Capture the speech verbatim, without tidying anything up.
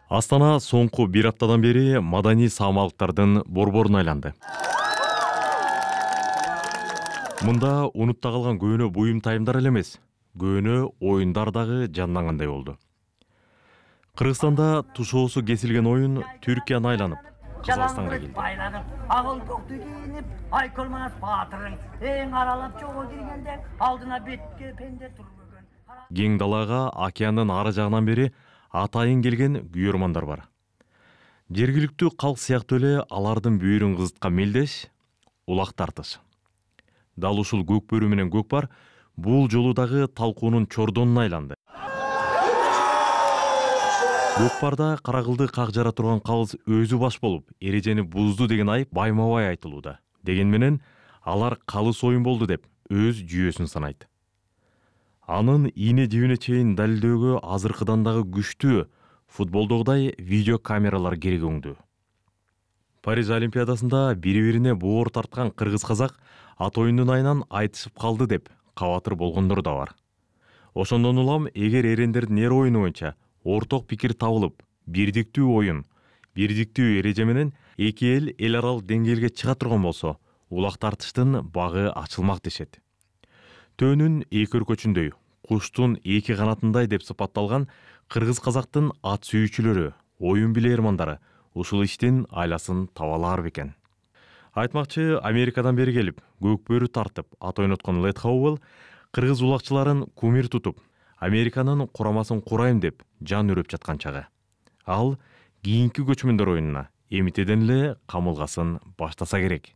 Астана соңку бир аптадан бери маданий саамалыктардын борборуна айланды. Мында унутта калган көөнө буюм тайымдар эле эмес, көөнө оюндар дагы жандангандай болду. Кыргызстанда тушоосу кесилген оюн Түркияны айланып, Казакстанга келди. Агыл токту кийинип, айкөлмас баатырың эң аралап жолго киргенде алдына бетке пенде турбөгөн. Кең далага океандын ары жагынан бери атайын келген күйөрмандар бар. Жергиликтүү калк сыяктуу эле алардын бүйүрүн кызыткан мелдеш улак тартыш. Дал ушул көк бөрү менен көкпар бул жолу дагы талкуунун чордонуна айланды. Көкпарда каракылды как жара турган калыс өзү баш болуп, эрежени бузду деген айып байма-бай айтылууда. Деген менен алар калыс оюн болду деп өз жүйөсүн санайт. Анын ийне жибине чейин далилдөөгө азыркыдан дагы күчтүү футболдогудай видео камералар керегөңдүү. Париж Олимпиадасында бири-бирине боор тарткан кыргыз-казак ат оюнунун айынан айтышып калды деп кабатыр болгондор да бар. Ошондон улам эгер эрендердин эр оюну боюнча орток пикир табылып, бирдиктүү оюн, бирдиктүү эреже менен эки эл эл аралык деңгээлге чыга турган болсо, улак тартыштын багы ачылмак дешет. Төөнүн эки өркөчүндөй, куштун эки канатындай деп сыпатталган кыргыз-казактын ат сүйүүчүлөрү, оюн билээрмандары ушул иштин айласын таба алар бекен. Айтмакчы, Америкадан бери келип, көк бөрү тартып, ат ойноткон Лед Хоуэлл кыргыз улакчыларын кумир тутуп, Американын курамасын курайм деп жан үрөп жаткан чагы. Ал кийинки көчмөндөр оюнуна эмитеден эле камылгасын баштаса керек.